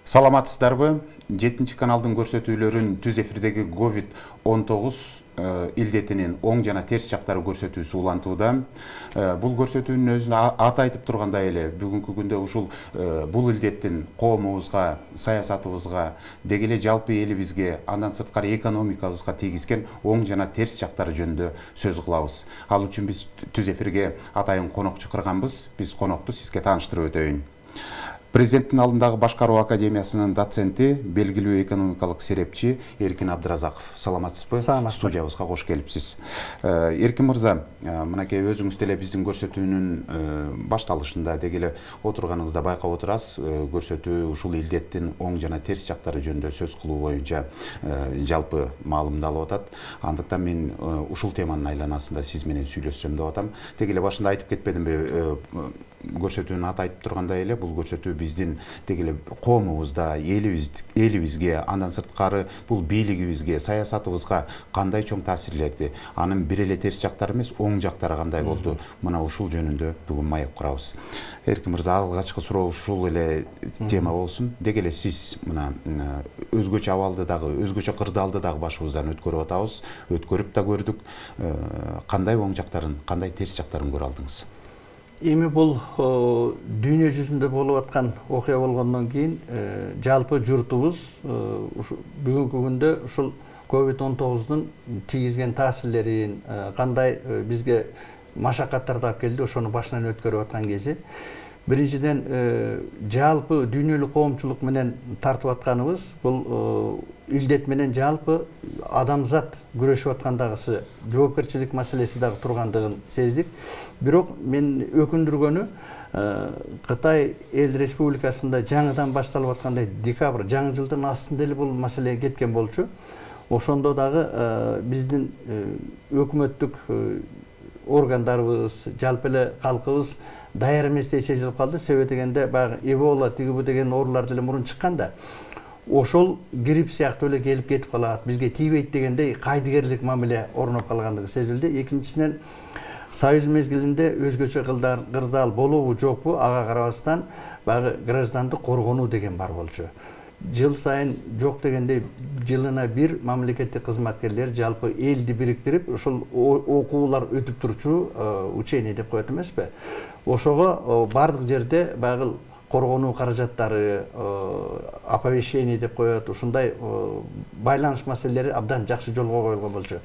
Саламатсыздарбы? 7 каналдын көрсөтүүлөрүн түз эфирдеги COVID-19 илдетинин оң жана терс жактары көрсөтүүсү улантууда. Бул көрсөтүүнүн өзүнө аты айтып тургандай эле бүгүнкү күндө ушул бул илдеттин коомубузга, саясатыбызга, деги эле жалпы элибизге, андан сырткары экономикабызга тийгизген оң жана терс жактары жөнүндө сөз кылабыз. Ал үчүн биз түз эфирге атайын конок чакырганбыз. Биз конокту сизге тааныштырып өтөйүн. Президенттин алдындагы башкаруу академиясынын доценти, белгилүү экономикалык серепчи Эркин Абдыразаков. Саламатсызбы? Студиябызга кош келипсиз. Эркин мырза, мынакей өзүңүз деле биздин көрсөтүүнүн башталышында деги эле отурганыңызда байкап отурасыз. Көрсөтүү ушул илдеттин оң жана терс жактары жөнүндө сөз кылуу боюнча жалпы маалымдалып атат. Андыктан мен ушул теманын айланасында сиз менен сүйлөшсөм деп атам. Деги эле башында айтып кетпедимби? Көрсөтүүнүн аты айтып тургандай эле бул көрсөтүү биздин деги эле коомубузда, элибизге, андан сырткары бул бийлигибизге, саясатыбызга кандай чоң таасирлерди, анын бир эле терс жактары эмес, оң жактары кандай болду? Мына ушул жөнүндө бүгүн маек курабыз. Эркин мырза, алгачкы суроо ушул эле тема болсун. Деги эле сиз мына өзгөчө абалды дагы, өзгөчө кырдаалды дагы башыбыздан өткөрүп атабыз, өткөрүп да көрдүк. Кандай оң жактарын, кандай терс жактарын көрө алдыңыз? Эми бул дүйнө жүзүндө болуп аткан окуя болгондон кийин жалпы журтубуз бүгүнкү күндө ушул COVID-19 тийгизген таасирлерин, кандай бизге машакаттарды алып келди, ошону башынан өткөрүп аткан кези. Биринчиден жалпы дүйнөлүк коомчулук менен тартып атканыбыз бул илдет менен жалпы адамзат күрөшүп аткандагысы жоопкерчилик маселеси дагы тургандыгын сездик. Бирок мен өкүндүргөнү Кытай эл республикасында жаңыдан башталып аткандай декабрь жаңы жылдын астында эле бул маселе кеткен болчу. Ошондо дагы биздин өкмөттүк органдарыбыз, жалпы эле калкыбыз даяр эместей сезилип калды. Себеби дегенде баягы Эбола тигибу деген оорулар деле мурун чыкканда, ошол грипп сыяктуу эле келип кетип калат, бизге тийбейт дегендей кайдыгерлик мамиле орноп калгандыгы сезилди. Экинчисинен союз мезгилинде өзгөчө кырдаал болобу жокпу, ага карабастан баягы граждандык коргонуу деген бар болчу. Жыл сайын жок дегендей жылына бир мамлекеттик кызматкерлер жалпы элди бириктирип ушул окуулар өтүп турчу учение деп коет эмеспи? Ошого бардык жерде баягы коргонуу каражаттары, оповещение деп коет, ушундай байланыш маселелери абдан жакшы жолго коюлган болчу.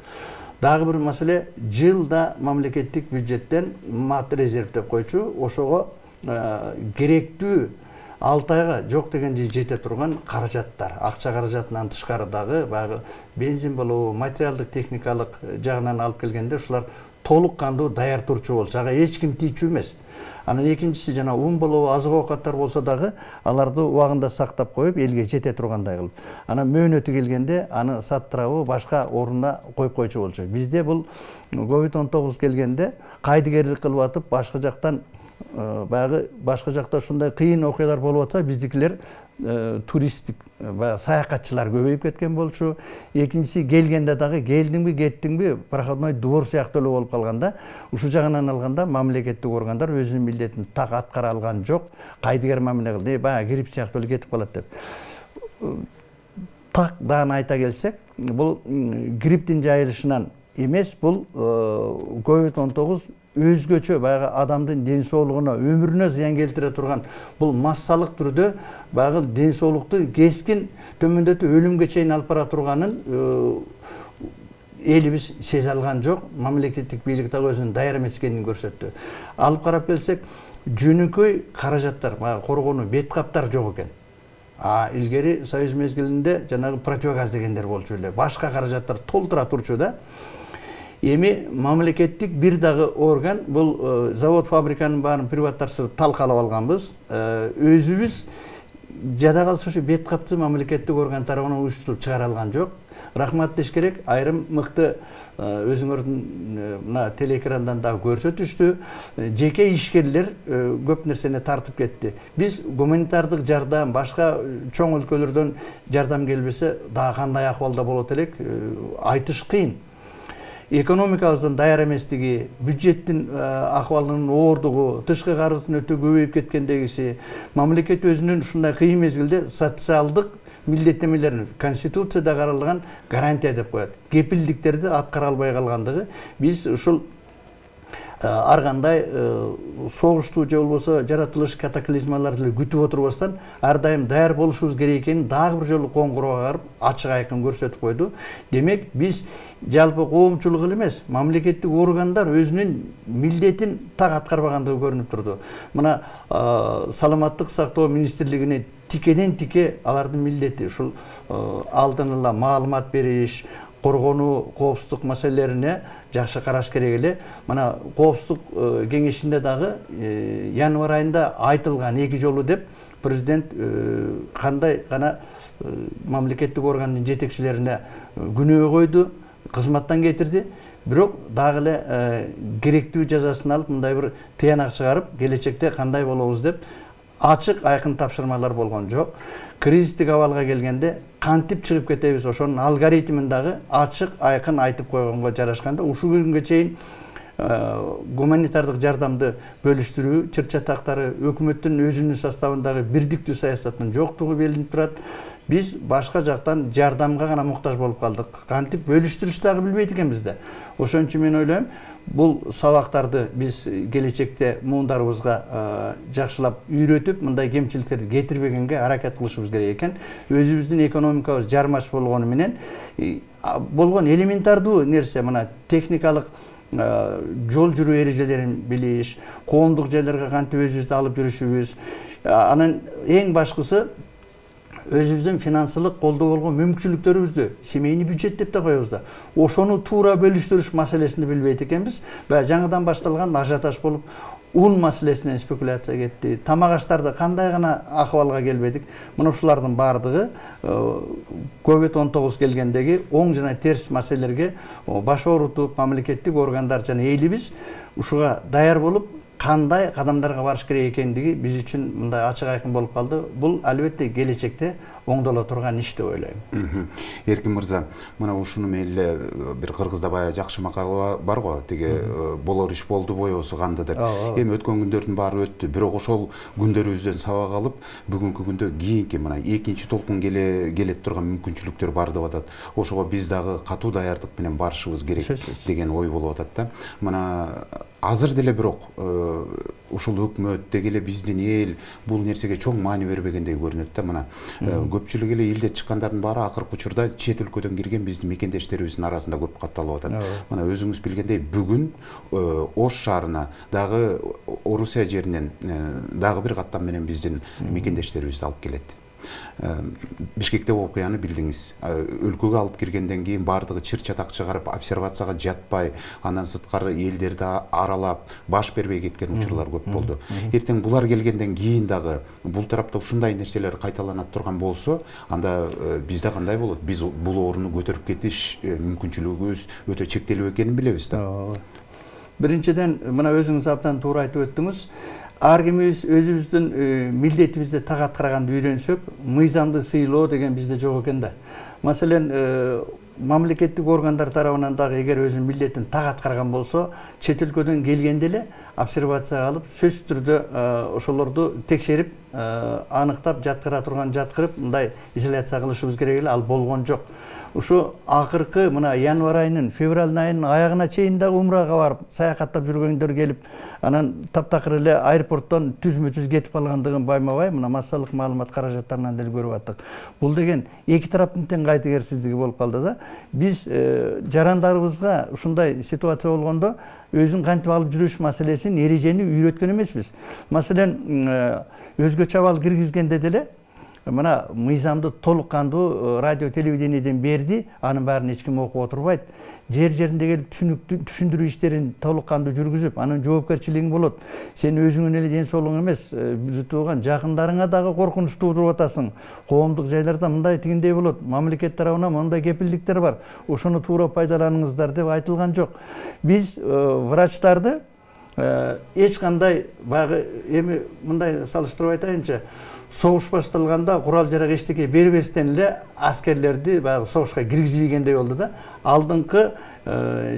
Дагы бир маселе, жылда мамлекеттик бюджеттен мат резерв деп койчу, ошого керектүү 6 айга жок дегенде жете турган каражаттар, акча каражатынан тышкары дагы баягы бензин болобу, материалдык техникалык жагынан алып келгенде ушулар толук кандуу даяр турчу болчу. Ага эч ким тийчү эмес. Анан экинчиси жана ун болобу, азык оокаттар болсо дагы аларды убагында сактап коюп, элге жете тургандай кылып. Анан мөөнөтү келгенде аны саттырабы, башка орунда коюп койчу болчу. Бизде бул COVID-19 келгенде кайдыгерлик кылып атып, башка жактан баягы башка жакта ушундай кыйын окуялар болуп атса, биздикилер туристтик саякатчылар көбөйүп кеткен болчу. Экинчиси, келгенде дагы келдиңби, кеттиңби, проходной двор сыяктуу эле болуп калганда, ушул жагынан алганда мамлекеттик органдар өзүнүн милдетин так аткара алган жок, кайдыгер мамиле кылды. Баягы грипп сыяктуу эле кетип калат деп. Так дагы айта келсек, бул грипптин жайылышынан эмес, бул COVID-19 өзгөчө баягы адамдын ден соолугуна, өмүрүнө зыян келтире турган бул массалык түрдө баягы ден соолукту кескин төмөндөтүп өлүмгө чейин алып бара турганын элибиз сезе алган жок. Мамлекеттик бийлик дагы өзүнүн даяр эмес экенин көрсөттү. Алып карап келсек, жөнөкөй каражаттар, баягы коргонуу бет каптар жок экен. Илгери союз мезгилинде жанагы противогаз дегендер болчу эле. Башка каражаттар толтура турчу да. Эми мамлекеттик бир дагы орган, бул завод фабриканын баарын приватташтырып талкалап алганбыз. Өзүбүз жада калса ушу бет капты мамлекеттик орган тарабынан уюштуруп чыгара алган жок. Рахмат деш керек, айрым мыкты өзүңөрдүн мына телеэкрандан дагы көрсөтүштү. Жеке ишкерлер көп нерсени тартып кетти. Биз гуманитардык жардам, башка чоң өлкөлөрдөн жардам келбесе, дагы кандай акыбалда болот элек, айтыш кыйын. экономикабыздын даяр эместиги, бюджеттин акыбалынын оордугу, тышкы карыздын өтө көбөйүп кеткендегиси, мамлекет өзүнүн ушундай кыйын мезгилде социалдык милдеттенмелерин Конституцияда каралган гарантия деп коет. Кепилдиктерди аткара албай калгандыгы, биз ушул ар кандай согуштуу же болбосо жаратылыш катаклизмаларды күтүп отурбастан ар дайым даяр болушубуз керек экенин дагы бир жолу коңгуроо кагарып ачык айкын көрсөтүп койду. Демек биз жалпы коомчулук эле эмес, мамлекеттик органдар өзүнүн милдетин так аткарбагандыгы көрүнүп турду. Мына саламаттык сактоо министрлигине тикеден тике алардын милдети ушул алдын ала маалымат бериш, коргонуу, коопсуздук маселелерине жакшы караш керек эле. Мына коопсуздук кеңешинде дагы январь айында айтылган 2 жолу деп президент кандай гана мамлекеттик органдын жетекчилерине күнөө койду, кызматтан кетирди. Бирок дагы эле керектүү жазасын алып, мындай бир тыянак чыгарып, келечекте кандай болобуз деп ачык айкын тапшырмалар болгон жок. Кризистик абалга келгенде кантип чыгып кетебиз, ошонун алгоритмин дагы ачык айкын айтып койгонго жарашканда ушул күнгө чейин гуманитардык жардамды бөлүштүрүү чыр-чатактары өкмөттүн өзүнүн составындагы бирдиктүү саясаттын жоктугу белинип турат. Биз башка жактан жардамга гана муктаж болуп калдык. Кантип бөлүштүрүштү дагы билбейт экенбиз да. Ошон үчүн мен ойлойм, бул сабактарды биз келечекте муундарыбызга жакшылап үйрөтүп, мындай кемчиликтерди кетирбегенге аракет кылышыбыз керек экен. Өзүбүздүн экономикабыз жармаш болгону менен болгон элементардуу нерсе, мына техникалык жол жүрүү эрежелерин билиш, коомдук жерлерге кантип өзүбүздү алып жүрүшүбүз, анан эң башкысы өзүбүздүн финансылык колдоо болгон мүмкүнчүлүктөрүбүздү семейный бюджет деп да коебуз да. Ошону туура бөлүштүрүш маселесин билбейт экенбиз. Баягы жаңыдан башталган ажиотаж болуп, ун маселесинен спекуляция кетти. Тамак аштарды кандай гана акыбалга келбедик. Мына ушулардын баардыгы COVID-19 келгендеги оң жана терс маселелерге баш оорутуп, мамлекеттик органдар жана элибиз ушуга даяр болуп, кандай кадамдарга барыш керек экендиги биз үчүн мындай ачык айкын болуп калды. Бул албетте келечекте оңдоло турган иш деп ойлойм. Эркин мырза, мына ушуну мейли бир кыргызда баягы жакшы макала бар го, тиги болор иш болду боёсу канды деп. Эми өткөн күндөрдүн баары өттү, бирок ошол күндөрүбүздөн сабак алып, бүгүнкү күндө кийинки мына экинчи толкун келет турган мүмкүнчүлүктөр бар деп атат. Ошого биз дагы катуу даярдык менен барышыбыз керек деген ой болуп атат да. Мына азыр деле бирок ушул өкмөт деги эле биздин эл бул нерсеге чоң маани бербегендей көрүнөт да. Мына көпчүлүк эле илде чыккандардын баары акыркы учурда чет өлкөдөн кирген биздин мекендештерибиздин арасында көп катталып атат. Мына өзүңүз билгендей бүгүн Ош шаарына дагы Орусия жеринен дагы бир каттам менен биздин мекендештерибизди алып келет. Бишкекте окуяны билдиңиз. Өлкөгө алып киргенден кийин баардыгы чыр-чатак чыгарып, обсервацияга жатпай, андан сырткары элдерди аралап, баш бербей кеткен учурлар көп болду. Эртең булар келгенден кийин дагы бул тарапта ушундай нерселер кайталанат турган болсо, анда бизде кандай болот? Биз бул орунду көтөрүп кетиш мүмкүнчүлүгүбүз өтө чектелүү экенин билебиз да. Биринчиден, мына өзүңүз абдан туура айтып өттүңүз. Ар кимибиз өзүбүздүн милдетибизди так аткарганды үйрөнсөк, мыйзамды сыйлоо деген бизде жок экен да. Маселен, мамлекеттик органдар тарабынан дагы эгер өзүнүн милдетин так аткарган болсо, чет өлкөдөн келгенде эле обсервацияга алып, сөзсүз түрдө ошолорду текшерип, аныктап, жаткыра турган жаткырып, мындай изоляция кылышыбыз керек эле, ал болгон жок. Ушу акыркы мына январь айынын, февраль айынын аягына чейин дагы умрага барып, саякаттап жүргөндөр келип, анан таптакыр эле аэропорттон түзмө-түз кетип калгандыгын байма-бай мына массалык маалымат каражаттарынан деле көрүп аттык. Бул деген эки тараптын тең кайтыгерсиздиги болуп калды да. Биз жарандарыбызга ушундай ситуация болгондо өзүн кантип алып жүрүш маселесин, эрежени үйрөткөн эмеспиз. Маселен, өзгөчө абал киргизгенде деле мына мыйзамды толук кандуу радио телевидениеден берди, анын баарын эч ким окуп отурбайт. Жер-жеринде келип түшүндүрүү иштерин толук кандуу жүргүзүп, анын жоопкерчилигиң болот. Сен өзүңүн эле ден соолугуң эмес, тууган жакындарыңа дагы коркунуч туудуруп атасың. Коомдук жайларда мындай тигиндей болот, мамлекет тарабынан мындай кепилдиктер бар. Ошону туура пайдаланыңыздар деп айтылган жок. Биз врачтарды эч кандай баягы эми мындай салыштырып айтайынчы, согуш башталганда курал жарак эчтеке бербестен эле аскерлерди баягы согушка киргизбегендей болду да. Алдыңкы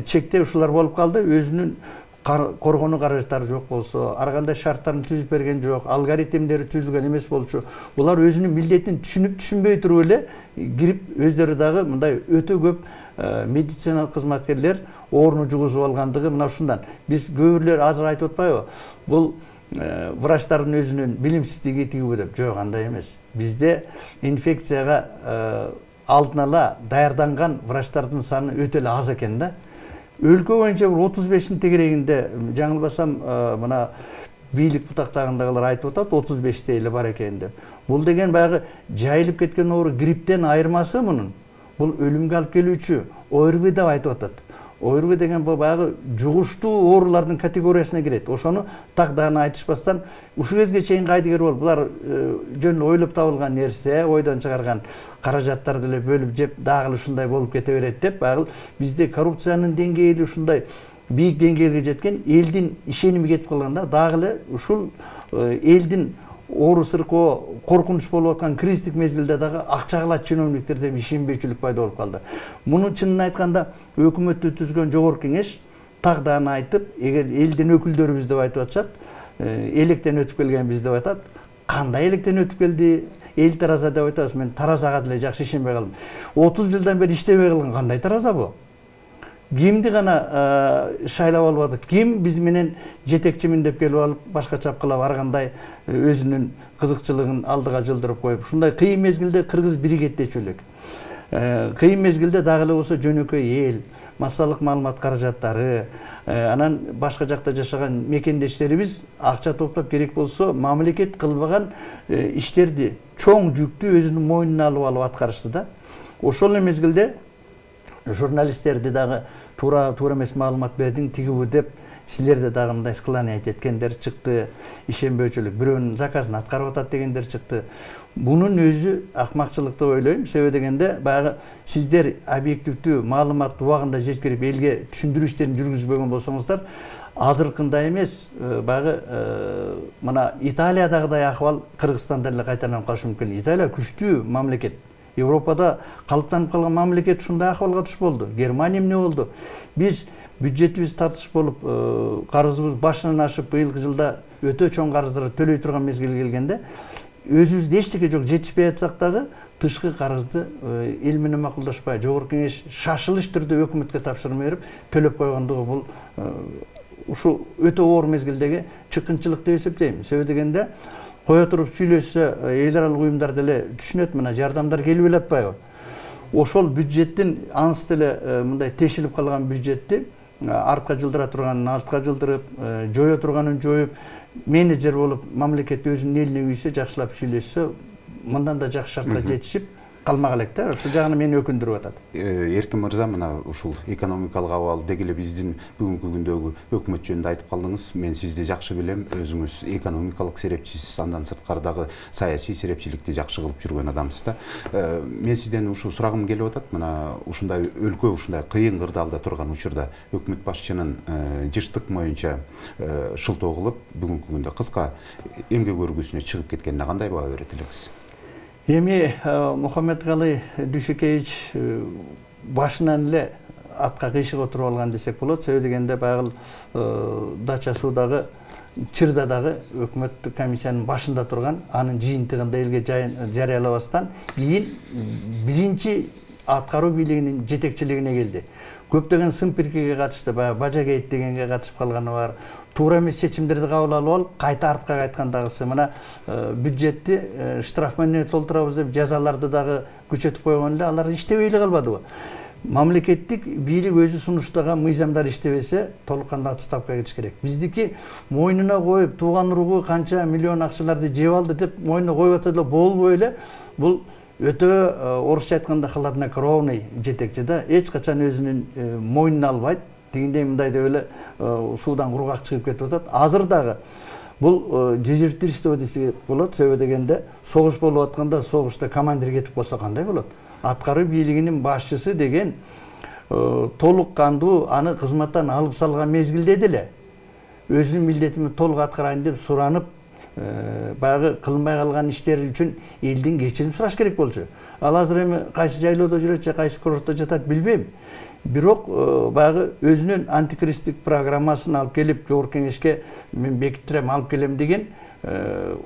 чекте ушулар болуп калды. Өзүнүн коргонуу каражаттары жок болсо, ар кандай шарттарын түзүп берген жок, алгоритмдери түзүлгөн эмес болчу. Булар өзүнүн милдетин түшүнүп түшүнбөй туруп эле кирип өздөрү дагы мындай өтө көп медициналык кызматкерлер оорunu жугузуп алгандыгы мына ушундан. Биз көбүрлөр азыр айтып атпайбы? Бул врачтардын өзүнүн билимсиздиги тигиби деп. Жок, андай эмес. Бизде инфекцияга алдын ала даярданган врачтардын саны өтө эле аз экен да. Өлкө боюнча 35-тин тегерегинде, жаңылбасам, мына бийлик бутактагындагылар айтып атат, 35-те эле бар экен деп. Бул деген баягы жайылып кеткен оору грипптен айырмасы мунун. Бул өлүмгө алып келүүчү ОРВИ деп айтып атат. ОРВИ деген бул баягы жугуштуу оорулардын категориясына кирет. Ошону так дагы айтышпастан ушул кезге чейин кайдыгер болуп, булар жөн ойлоп табылган нерсе, ойдон чыгарган каражаттарды эле бөлүп жеп, дагы ушундай болуп кете берет деп, баягы бизде коррупциянын деңгээли ушундай бийик деңгээлге жеткен, элдин ишеними кетип калганда, дагы эле ушул элдин оору сыркоо коркунуч болуп аткан кризистик мезгилде дагы акчагыла чиновниктер деп ишенбөөчүлүк пайда болуп калды. Муну чынын айтканда өкмөттү түзгөн жогорку кеңеш так дагы айтып, эгер элдин өкүлдөрүбүз деп айтып атышат, электен өтүп келгенбиз деп айтат. Кандай электен өтүп келди? Эл тараза деп айтабыз. Мен таразага деле жакшы ишенбей калдым. 30 жылдан бери иштебей калган кандай тараза бу? Кимди гана шайлап албадык? Ким биз менен жетекчимин деп келип алып, башка чапкылап ар кандай өзүнүн кызыкчылыгын алдыга жылдырып коюп, ушундай кыйын мезгилде кыргыз биригет дечү элек. Кыйын мезгилде дагы эле болсо жөнөкөй эл, массалык маалымат каражаттары, анан башка жакта жашаган мекендештерибиз акча топтоп керек болсо мамлекет кылбаган иштерди, чоң жүктү өзүнүн мойнуна алып аткарышты да. Ошол мезгилде журналисттерди дагы туура эмес маалымат бердиң тигиби деп силерде дагы мындай склонять эткендер чыкты, ишенбөөчүлүк, бирөөнүн заказын аткарып атат дегендер чыкты. Бунун өзү акмакчылык деп ойлойм. Себеби дегенде баягы сиздер объективдүү маалымат убагында жеткирип элге түшүндүрүү иштерин жүргүзбөгөн болсоңуздар, азыркындай эмес, баягы мына Италиядагыдай акыбал Кыргызстанда эле кайталанып калышы мүмкүн. Италия күчтүү мамлекет. Европада калыптанып калган мамлекет ушундай акыбалга туш болду. Германия эмне болду? Биз бюджетибиз тартыш болуп, карызыбыз башынан ашып, быйылкы жылда өтө чоң карыздар төлөй турган мезгил келгенде, өзүбүздө эчтеке жок, жетишпей атсак дагы тышкы карызды эл менен макулдашпай, жогорку кеңеш шашылыш түрдө өкмөткө тапшырма берип төлөп койгондугу бул ушу өтө оор мезгилдеги чыккынчылык деп эсептейм. Себеби дегенде кое туруп сүйлөшсө эл аралык уюмдар деле түшүнөт, мына жардамдар келип эле. Ошол бюджеттин аныс деле мындай тешилип калган бюджетти артка жылдыра турганын артка жылдырып, жое турганын жоюп, менеджер болуп мамлекет өзүнүн элине күйсө, жакшылап сүйлөшсө, мындан да жакшы шартка жетишип калмак элек да. Ушул жагын мени өкүндүрүп атат. Эркин мырза, мына ушул экономикалык абал деги эле биздин бүгүнкү күндөгү өкмөт жөнүндө айтып калдыңыз. Мен сизди жакшы билем, өзүңүз экономикалык серепчисиз, андан сырткары дагы саясий серепчиликти жакшы кылып жүргөн адамсыз да. Мен сизден ушул сурагым келип атат. Мына ушундай өлкө ушундай кыйын кырдаалда турган учурда өкмөт башчынын жыштык моюнча шылтоо кылып, бүгүнкү күндө кыска эмгек өргүсүнө чыгып кеткенине кандай баа берет элексиз? Эми Мухаммедкалый Дүйшөкеевич башынан эле атка кыйшык отуруп алган десек болот. Себеби дегенде баягы Дача суудагы Чырдадагы өкмөттүк комиссиянын башында турган, анын жыйынтыгында элге жарыялабастан кийин биринчи аткаруу бийлигинин жетекчилигине келди. Көптөгөн сын-пиркеге катышты, баягы Бажагейт дегенге катышып калганы бар. Туура эмес чечимдерди кабыл алып алып, кайта артка кайткандагысы, мына бюджетти штраф менен толтурабыз деп жазаларды дагы күчөтүп койгон эле, алар иштебей эле калбадыбы? Мамлекеттик бийлик өзү сунуштаган мыйзамдар иштебесе, толук кандуу отставкага кетиш керек. Биздики мойнуна коюп, тууган уругу канча миллион акчаларды жеп алды деп мойнуна коюп атса деле болбой эле, бул өтө орусча айтканда хладнокровный жетекчи да, эч качан өзүнүн мойнуна албайт. Тигиндей мындай деп эле суудан кургак чыгып кетип атат. Азыр дагы бул дезертирство десе болот. Себеби дегенде согуш болуп атканда согушта командир кетип калса кандай болот? Аткаруу бийлигинин башчысы деген толук кандуу аны кызматтан алып салган мезгилде деле өзүнүн милдетин толук аткарайын деп суранып, баягы кылынбай калган иштери үчүн элдин кечирим сураш керек болчу. Ал азыр эми кайсы жайлоодо жүрөт же кайсы курортто жатат билбейм. Бирок баягы өзүнүн антикризистик программасын алып келип жогорку кеңешке мен бекиттирем, алып келем деген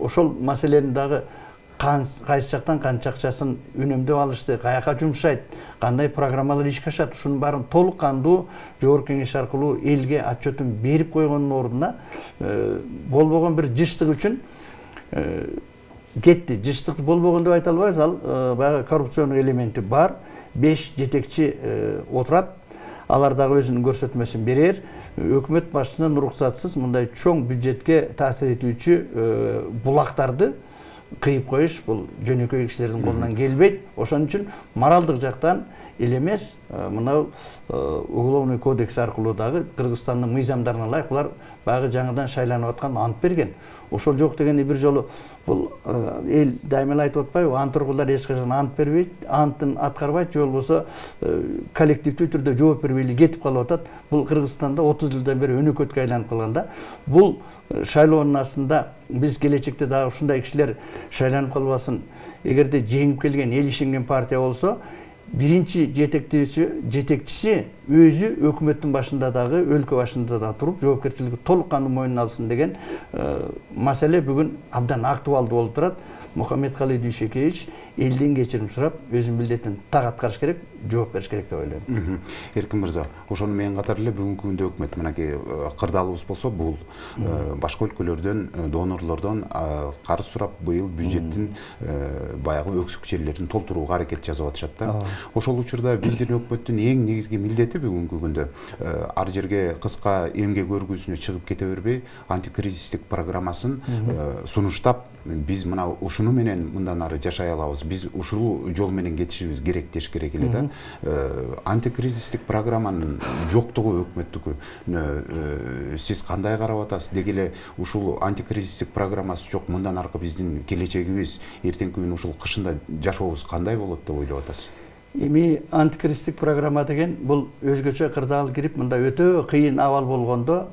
ошол маселени дагы кайсы жактан канча акчасын үнөмдөп алышты, каяка жумшайт, кандай программалар ишке ашат, ушунун баарын толук кандуу жогорку кеңеш аркылуу элге отчетун берип койгондун ордуна болбогон бир жыштык үчүн кетти. Жыштык болбогон деп айта албайбыз, ал баягы коррупциондук элементи бар. 5 жетекчи отурат. Алар дагы өзүнүн көрсөтмөсүн берер. Өкмөт башчынын уруксатсыз мындай чоң бюджетке таасир этүүчү булактарды кыйып коюш бул жөнөкөй кишилердин колунан келбейт. Ошон үчүн моралдык жактан эле эмес, мына уголовный кодекс аркылуу дагы Кыргызстандын мыйзамдарына ылайык булар баягы жаңыдан шайланып аткан ант берген. Ошол жок дегенде бир жолу бул эл дайыма эле айтып атпайбы, ант тургулдар эч качан ант бербейт, антын аткарбайт, же болбосо коллективдүү түрдө жооп бербей эле кетип калып атат. Бул Кыргызстанда 30 жылдан бери өнөкөткө айланып калганда, бул шайлоонун астында биз келечекте дагы ушундай кишилер шайланып калбасын. Эгерде жеңип келген, эл ишенген партия болсо, биринчи жетекчиси өзү өкмөттүн башында дагы, өлкө башында да туруп, жоопкерчилиги толук кандуу мойнуна алсын деген маселе бүгүн абдан актуалдуу болуп турат. Мухаммедкалый Дүйшекевич элден кечирим сурап, өзүнүн милдетин так аткарыш керек, жооп бериш керек деп ойлойм. Эркин мырза, ошону менен катар эле бүгүнкү күндө өкмөт мынакей кырдаалыбыз болсо, бул башка өлкөлөрдөн, донорлордон карыз сурап, быйыл бюджеттин баягы өксүк жерлерин толтурууга аракет жасап атышат да. Ошол учурда биздин өкмөттүн эң негизги милдети бүгүнкү күндө ар жерге кыска эмгек өргүүсүнө чыгып кете бербей, антикризистик программасын сунуштап, биз мына ушуну менен мындан ары жашай алабыз, биз ушул жол менен кетишибиз керек деш керек эле да. Антикризистик программанын жоктугу өкмөттүкү сиз кандай карап атасыз? Деги эле ушул антикризистик программасы жок, мындан аркы биздин келечегибиз, эртеңки күнү ушул кышында жашообуз кандай болот деп ойлоп атасыз? Эми антикризистик программа деген бул өзгөчө кырдаал кирип, мында өтө кыйын абал болгондо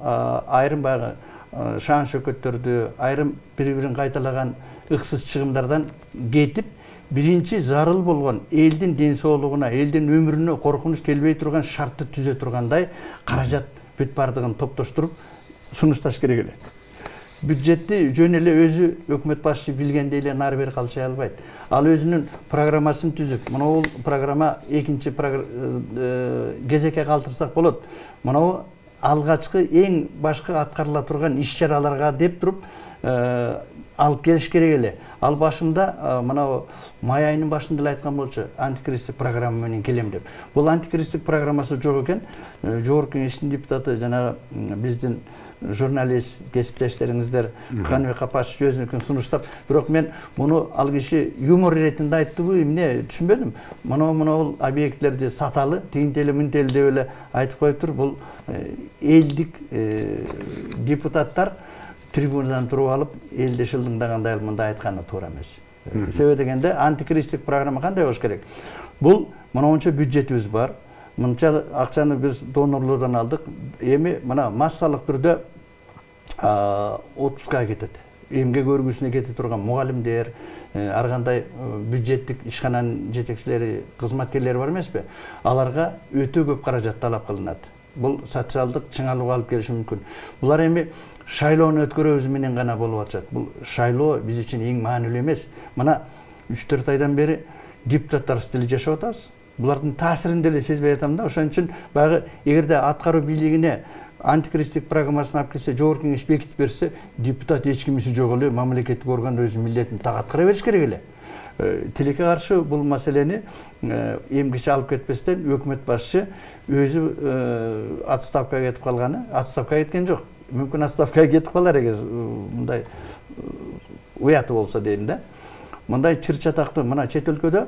айрым баягы шаан шөкөттөрдү, айрым бири-бирин кайталаган ыксыз чыгымдардан кетип, биринчи зарыл болгон элдин ден соолугуна, элдин өмүрүнө коркунуч келбей турган шартты түзө тургандай каражат бүт бардыгын топтоштуруп сунушташ керек эле. Бюджетти жөн эле өзү өкмөт башчы билгендей эле нары бери калчай албайт. Ал өзүнүн программасын түзүп, мына бул программа экинчи кезекке калтырсак болот. Мына алгачкы эң башкы аткарыла турган иш-чараларга деп туруп алып келиш керек эле. Ал башында мына май айынын башында эле айткан болчу, антикризистик программа менен келем деп. Бул антикризистик программасы жок экен. Жогорку кеңештин депутаты жанагы биздин журналист кесиптештериңиздер Каныбек Капашев өзүнүкүн сунуштап, бирок мен муну ал киши юмор иретинде айттыбы, эмне түшүнбөдүм. Мына бул объектлерди саталы, тигинтели мынтели деп эле айтып коюптур. Бул элдик депутаттар трибунадан туруп алып, элди шылдыңдагандай мындай айтканы туура эмес. Себеби дегенде антикризистик программа кандай болуш керек? Бул мынча бюджетибиз бар. Мынча акчаны биз донорлордон алдык. Эми мына массалык түрдө отпускага кетет. Эмгек өргүүсүнө кете турган мугалимдер, ар кандай бюджеттик ишкананын жетекчилери, кызматкерлери бар эмеспи? Аларга өтө көп каражат талап кылынат. Бул социалдык чыңалууга алып келиши мүмкүн. Булар эми шайлоону өткөрөбүз менен гана болуп атышат. Бул шайлоо биз үчүн эң маанилүү эмес. Мына 3-4 айдан бери депутаттар стили жашап атабыз. Булардын таасирин деле сезбей атам да. Ошон үчүн баягы эгерде аткаруу бийлигине антикризистик программасын алып келсе, жогорку кеңеш бекитип берсе, депутат эч кимиси жок эле мамлекеттик орган өзүнүн милдетин так аткара бериш керек эле. Тилекке каршы бул маселени эмгиче алып кетпестен өкмөт башчы өзү отставкага кетип калганы, отставкага кеткен жок. Мүмкүн отставкага кетип калар эгер мындай уяты болсо дейм да. Мындай чыр чатактуу мына чет өлкөдө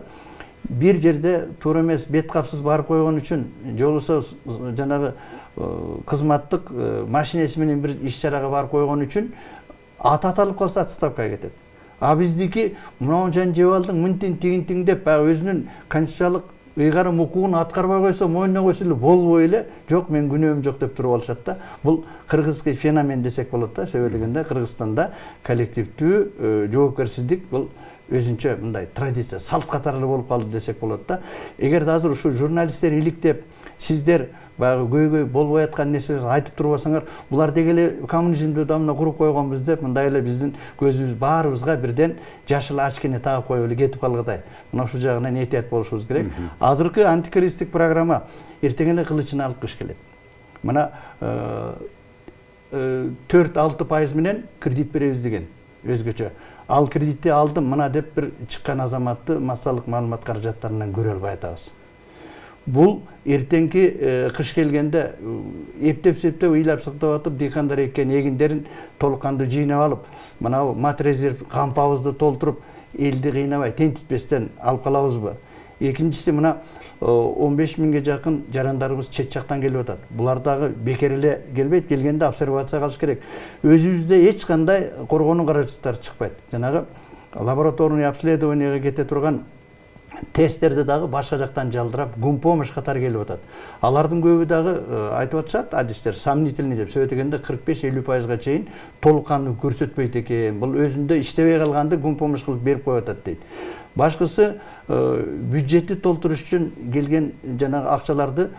бир жерде туура эмес бет капсыз барып койгон үчүн, же болбосо жанагы кызматтык машинеси менен бир иш-чарага барып койгон үчүн аты аталып калса отставкага кетет. А биздики мынау жан жеп алдың, мынтиң тигинтиң деп баягы өзүнүн конституциялык ыйгарым укугун аткарбай койсо, мойнуна койсо эле болбой эле, жок мен күнөөм жок деп туруп алышат да. Бул кыргызский феномен десек болот да. Себеби дегенде Кыргызстанда коллективдүү жоопкерсиздик бул өзүнчө мындай традиция, салт катары болуп калды десек болот да. Эгерде азыр ушу журналисттер иликтеп, сиздер баягы көйгөй болбой аткан нерселерди айтып турбасаңар, булар деги эле коммунизмди дамына куруп койгонбуз деп, мындай эле биздин көзүбүз баарыбызга бирден жашыл очкини тагып коюп эле кетип калгыдай. Мына ушул жагынан этият болушубуз керек. Азыркы антикризистик программа эртең эле кылычын алып кыш келет. Мына 4-6% менен кредит беребиз деген өзгөчө. Ал кредитти алдым мына деп бир чыккан азаматты массалык маалымат каражаттарынан көрө албай атабыз. Бул эртеңки кыш келгенде эптеп-септеп ыйлап сактап атып, дыйкандар эккен эгиндерин толук кандуу жыйнап алып, мына мат резерв кампабызды толтуруп, элди кыйнабай, тентитпестен алып калабызбы? Экинчиси, мына 15 миңге жакын жарандарыбыз чет жактан келип атат. Булар дагы бекер эле келбейт, келгенде обсервация кылыш керек. Өзүбүздө эч кандай коргонуу каражаттары чыкпайт. Жанагы лабораторный обследованияга кете турган тесттерди дагы башка жактан жалдырап, гумпомощь катары келип атат. Алардын көбү дагы айтып атышат, адистер сомнительный деп, себеби дегенде 45-50%га чейин толук кандуу көрсөтпөйт экен. Бул өзүндө иштебей калганды гумпомощь кылып берип коюп атат дейт. Башкысы бюджетти толтуруш үчүн келген жанагы акчаларды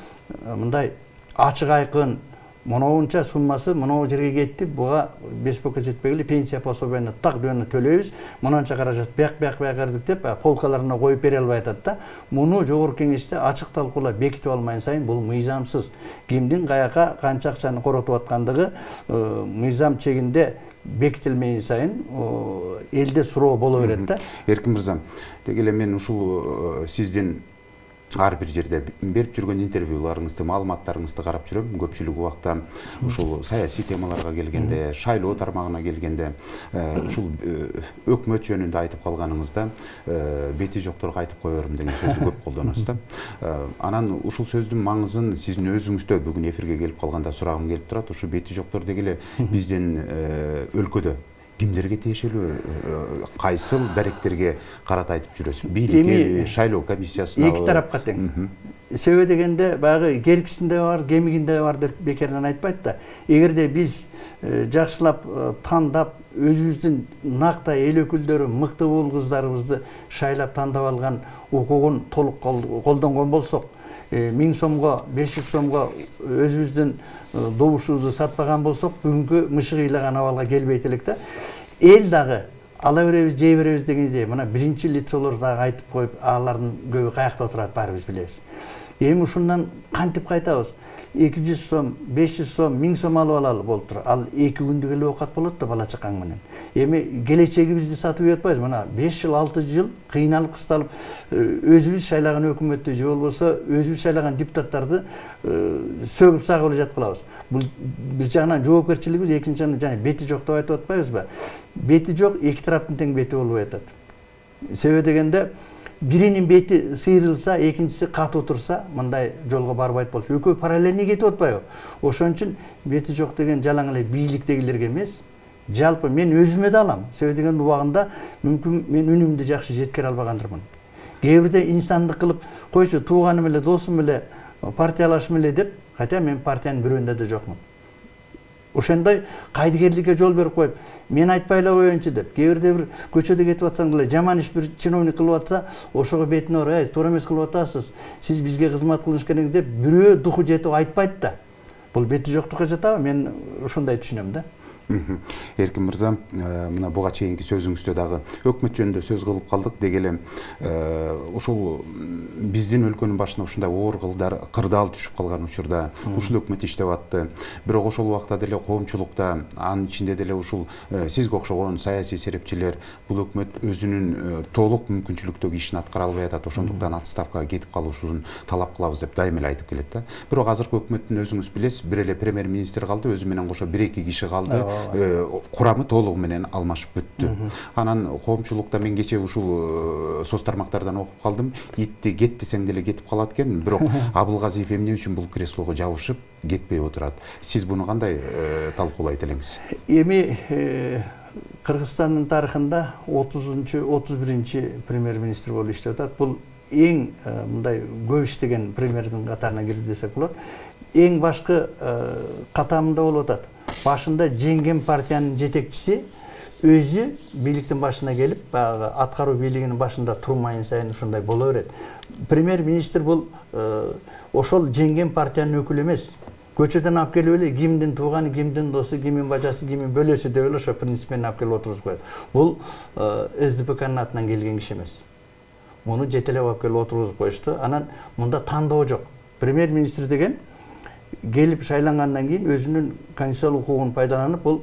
мындай ачык айкын моноунча суммасы мону жерге кетти, буга беспокой жетпей эле пенсия пособияны так дөөнө төлөйбүз, мынанча каражат бияк кырдык деп полкаларына коюп бере албай атат да. Муну жогорку кеңеште ачык талкуулап бекитип алмайын сайын бул мыйзамсыз. Кимдин каяка канча акчаны коротуп аткандыгы мыйзам чегинде бекитилмейин сайын элде суроо боло берет да. Эркин мырза, деги эле мен ушул сиздин ар бир жерде берип жүргөн интервьюларыңызды, маалыматтарыңызды карап жүрөм. Көпчүлүк убакта ушул саясий темаларга келгенде, шайлоо тармагына келгенде, ушул өкмөт жөнүндө айтып калганыңызда бети жокторго айтып коерум деген сөздү көп колдоносуз да. Анан ушул сөздүн маңызын сиздин өзүңүздө бүгүн эфирге келип калганда сурагым келип турат. Ушу бети жоктор деги эле биздин өлкөдө кимдерге тиешелүү, кайсыл даректерге карата айтып жүрөсүз? Бийликке, шайлоо комиссиясына? Эки тарапка тең. Себеби дегенде баягы керкисинде бар, кемигинде бар деп бекерден айтпайт да. Эгерде биз жакшылап тандап, өзүбүздүн нактай эл өкүлдөрү, мыкты уул кыздарыбызды шайлап тандап алган укугун толук колдонгон болсок, 1000 сомго, 500 сомго өзүбүздүн добушубузду сатпаган болсок, бүгүнкү мышык ыйлаган абалга келбейт элек да. Эл дагы ала беребиз, жей беребиз дегенде, мына биринчи лицолор дагы айтып коюп, алардын көбү каякта отурат баарыбыз билебиз. Эми ушундан кантип кайтабыз? 200 сом, 500 сом, 1000 сом алып алалы болуп тур. Ал 2 күндүк эле оокат болот да бала чакаң менен. Эми келечегибизди сатып жатпайбыз. Мына 5 жыл, 6 жыл кыйналып, кысталып өзүбүз шайлаган өкмөттү же болбосо өзүбүз шайлаган депутаттарды сөгүп сагып эле жаткылабыз. Бул бир жагынан жоопкерчилигибиз, экинчи жагынан жана бети жок деп айтып атпайбызбы? Бети жок, эки тараптын тең бети болбой атат. Себеби дегенде биринин бети сыйрылса, экинчиси катуу турса, мындай жолго барбайт болчу. Экөө параллельный кетип атпайбы? Ошон үчүн бети жок деген жалаң эле бийликтегилерге эмес, жалпы мен өзүмө да алам. Себеби деген убагында мүмкүн мен үнүмдү жакшы жеткире албагандырмын. Кээ бирде инсандык кылып, койчу тууганым эле, досум эле, партиялашым эле деп, хотя мен партиянын бирөөндө да жокмун. Ошондой кайдыгерликке жол берип коюп, мен айтпай эле коеюнчу деп, кээ бирде бир көчөдө кетип атсаң деле жаман иш бир чиновник кылып атса, ошого бетине ұрып, туура эмес кылып атасыз, сиз бизге кызмат кылыш керексиз деп, бирөө духу жетип айтпайт да. Бул бети жоктукка жатабы? Мен ошондой түшүнөм да. Эркин мырза, мына буга чейинки сөзүңүздө дагы өкмөт жөнүндө сөз кылып калдык деги эле ушул биздин өлкөнүн башына ушундай оор кырдаал түшүп калган учурда ушул өкмөт иштеп атты. Бирок ошол убакта деле коомчулукта, анын ичинде деле ушул сизге окшогон саясий серепчилер бул өкмөт өзүнүн толук мүмкүнчүлүктөгү ишин аткара албай атат, ошондуктан отставкага кетип калышын талап кылабыз деп дайыма эле айтып келет да. Бирок азыркы өкмөттүн өзүңүз билесиз, бир эле премьер-министр калды, өзү менен кошо 1-2 киши калды. Курамы толугу менен алмашып бүттү. Анан коомчулукта мен кече ушул соц тармактардан окуп калдым. Итти кет десең деле кетип калат экен, бирок Абылгазиев эмне үчүн бул креслого жабышып кетпей отурат? Сиз буну кандай талкуулайт элеңиз? Эми Кыргызстандын тарыхында 30-31 премьер-министр болуп иштеп атат. Бул эң мындай көп иштеген премьердин катарына кирди десек болот. Эң башкы катамында болуп атат. Башында жеңген партиянын жетекчиси өзү бийликтин башына келип, баягы аткаруу бийлигинин башында турмайын сайын ушундай боло берет. Премьер-министр бул ошол жеңген партиянын өкүлү эмес. Көчөдөн алып келип эле кимдин тууганы, кимдин досу, кимдин бажасы, кимдин бөлөсү деп эле ошо принцип менен алып келип отыргузуп коет. Бул СДПКнын атынан келген киши эмес. Муну жетелеп алып келип отургузуп коюшту. Анан мында тандоо жок. Премьер-министр деген келип шайлангандан кийин өзүнүн конституциялык укугун пайдаланып, бул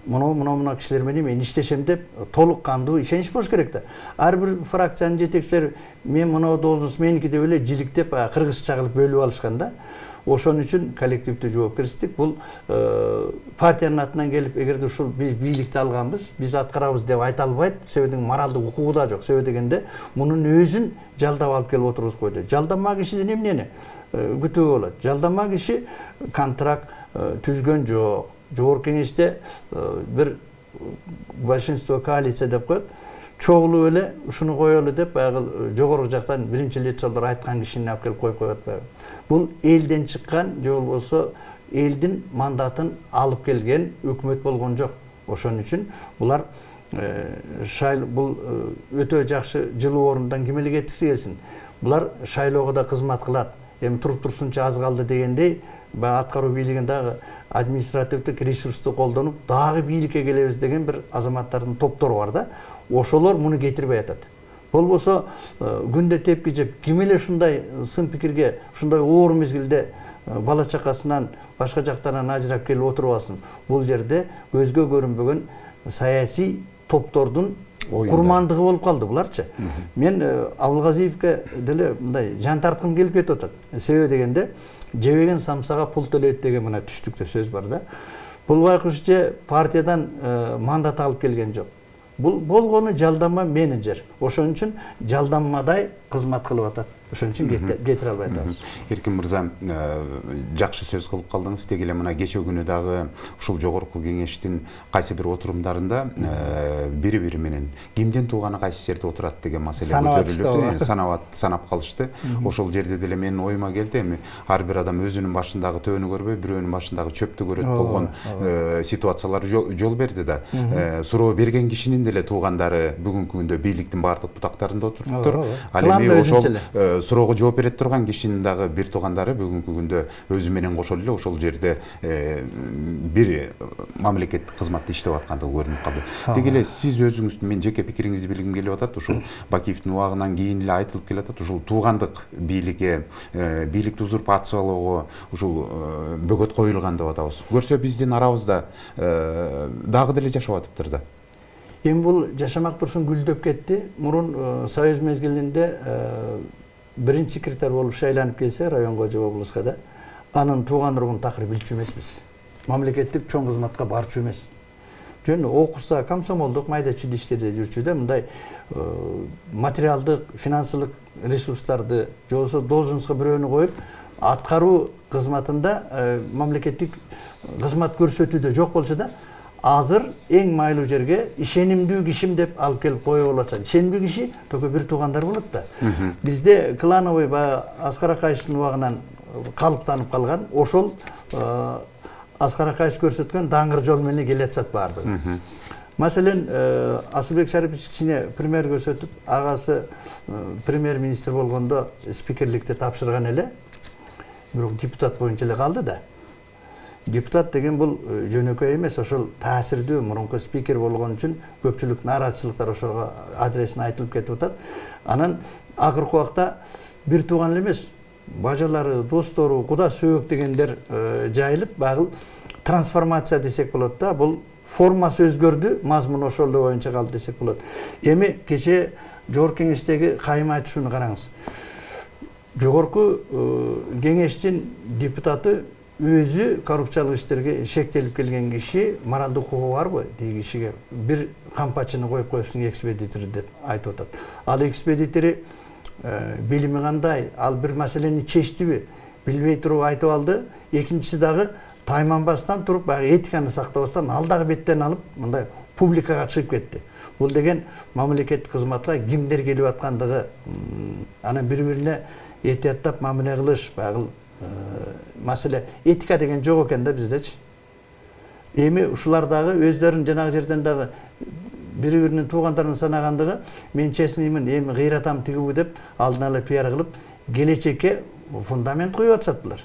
мына кишилер менен мен иштешем деп толук кандуу ишенич болуш керек да. Ар бир фракциянын жетекчилери мен мына должность меники деп эле жиликтеп, кыргызча кылып бөлүп алышкан да. Ошон үчүн коллективдүү жоопкерчилик бул партиянын атынан келип, эгерде ушул биз бийликти алганбыз, биз аткарабыз деп айта албайт. Себебин моралдык укугу да жок. Себеби дегенде мунун өзүн жалдап алып келип отургузуп койду. Жалданма кишиден эмнени күтүүгө болот? Жалданма киши контракт түзгөн жок. Жогорку кеңеште бир большинство коалиция деп коет. Чогулуп эле ушуну коелу деп баягы жогорку жактан биринчи лицолор айткан кишини алып келип коюп коет. Бул элден чыккан же болбосо элдин мандатын алып келген өкмөт болгон жок. Ошон үчүн булар бул өтө жакшы жылуу орундан ким эле кеткиси келсин. Булар шайлоого да кызмат кылат. Эми туруп турсунча аз калды дегендей, баягы аткаруу бийлигин дагы административдик ресурсту колдонуп, дагы бийликке келебиз деген бир азаматтардын топтору бар да. Ошолор муну кетирбей атат. Болбосо күндө тепки жеп, ким эле ушундай сын пикирге, ушундай оор мезгилде бала чакасынан, башка жактарынан ажырап келип отуруп алсын. Бул жерде көзгө көрүнбөгөн саясий топтордун курмандыгы болуп калды буларчы. Мен Абылгазиевке деле мындай жан тарткым келип кетип атат. Себеби дегенде жебеген самсага пул төлөйт деген мына түштүктө сөз бар да. Бул байкуш же партиядан мандат алып келген жок. Бул болгону жалданма менеджер. Ошон үчүн жалданмадай кызмат кылып атат. Ошон үчүн кетире албай атабыз. Эркин мырза, жакшы сөз кылып калдыңыз. Деги эле мына кече күнү дагы ушул жогорку кеңештин кайсы бир отурумдарында бири-бири менен кимден тууганы кайсы жерде отурат деген маселе көтөрүлүп, санап калышты. Ошол жерде деле менин оюма келди, эми ар бир адам өзүнүн башындагы төөнү көрбөй, бирөөнүн башындагы чөптү көрөт болгон ситуациялар жол берди да. Суроо берген кишинин деле туугандары бүгүнкү күндө бийликтин баардык бутактарында отуруптур. Ал эми ошол суроого жооп бере турган кишинин дагы бир туугандары бүгүнкү күндө өзү менен кошо эле ошол жерде бир мамлекеттик кызматта иштеп аткандыгы көрүнүп калды. Деги эле сиз өзүңүздүн, мен жеке пикириңизди билгим келип атат. Ушул Бакиевдин убагынан кийин эле айтылып келатат. Ушул туугандык бийликке, бийликти узурпациялоого ушул бөгөт коюлган деп атабыз. Көрсө биздин арабызда дагы деле жашап атыптыр да. Эми бул жашамак турсун гүлдөп кетти. Мурун союз мезгилинде биринчи секретарь болуп шайланып келсе районго же облуска да, анын тууган уругун такыр билчү эмеспиз. Мамлекеттик чоң кызматка барчу эмес. Жөн окуса, комсомолдук майда чүйдө иштерде жүрчү да, мындай материалдык, финансылык ресурстарды же болбосо должностко бирөөнү коюп, аткаруу кызматында мамлекеттик кызмат көрсөтүүдө жок болчу да. Азыр эң майлуу жерге ишенимдүү кишим деп алып келип коюп алат. Ишенимдүү киши только бир туугандар болот да. Бизде клановый Аскар Акаевдин убагынан калыптанып калган, ошол Аскар Акаев көрсөткөн даңгыр жол менен келатат баардыгы. Маселен, Асылбек Шарипович кичине пример көрсөтүп, агасы премьер-министр болгондо спикерликти тапшырган эле, бирок депутат боюнча эле калды да. Депутат деген бул жөнөкөй эмес, ошол таасирдүү мурунку спикер болгон үчүн көпчүлүк нааразычылыктар ошого адресине айтылып кетип атат. Анан акыркы убакта бир тууган эле эмес, бажалары, достору, куда сөөк дегендер жайылып, багыл трансформация десек болот да. Бул формасы өзгөрдү, мазмун ошол эле боюнча калды десек болот. Эми кече жогорку кеңештеги кайым айтышууну караңыз. Жогорку кеңештин депутаты өзү коррупциялык иштерге шектелип келген киши, моралдык укугу барбы? Деги кишиге бир кампачыны коюп коюпсуң экспедитор деп айтып атат. Ал экспедитори билими кандай, ал бир маселени чечтиби, билбей туруп айтып алды. Экинчиси дагы тайманбастан туруп, этиканы сактабастан ал дагы беттен алып, мындай публикага чыгып кетти. Бул деген мамлекеттик кызматка кимдер келип аткандыгы, анан бири-бирине этияттап мамиле кылыш, баягы маселе этика деген жок экен да биздечи. Эми ушулар дагы өздөрүн жанагы жерден дагы бири-биринин туугандарын санагандыгы, мен честныймын, эми кыйратам тигибу деп алдын ала пиар кылып, келечекке фундамент коюп атышат булар.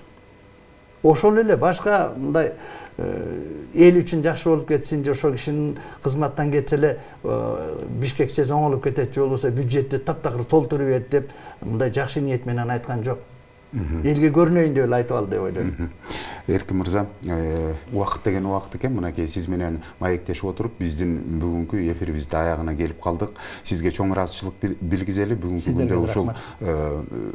Ошол эле башка мындай эл үчүн жакшы болуп кетсин, же ошол кишинин кызматтан кетсе эле Бишкек СЭС оңолуп кетет, же болбосо бюджетти таптакыр толтуруп берет деп мындай жакшы ниет менен айткан жок. Элге көрүнөйүн деп эле айтып алды деп ойлойм. Эркин мырза, убакыт деген убакыт экен. Мынакей сиз менен маектешип отуруп, биздин бүгүнкү эфирибизди аягына келип калдык. Сизге чоң ыраазычылык билгизели. Бүгүнкү күндө ушул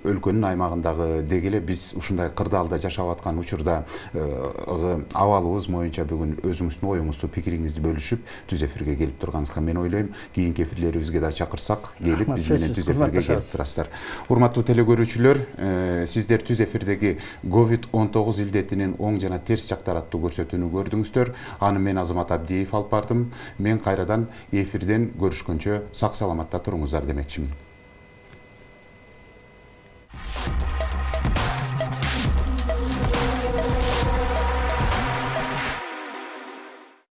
өлкөнүн аймагындагы деги эле биз ушундай кырдаалда жашап аткан учурда абалыбыз боюнча бүгүн өзүңүздүн оюңузду, пикириңизди бөлүшүп, түз эфирге келип турганыңызга мен ойлойм. Кийинки эфирлерибизге да чакырсак, келип биз менен түз эфирге келип турасыздар. Урматтуу телекөрүүчүлөр, сиздер түз эфирдеги COVID-19 илдетинин оң жана терс жактары аттуу көрсөтүүнү көрдүңүздөр. Аны мен Азамат Абдиев алып бардым. Мен кайрадан эфирден көрүшкөнчө сак саламатта туруңуздар демекчимин.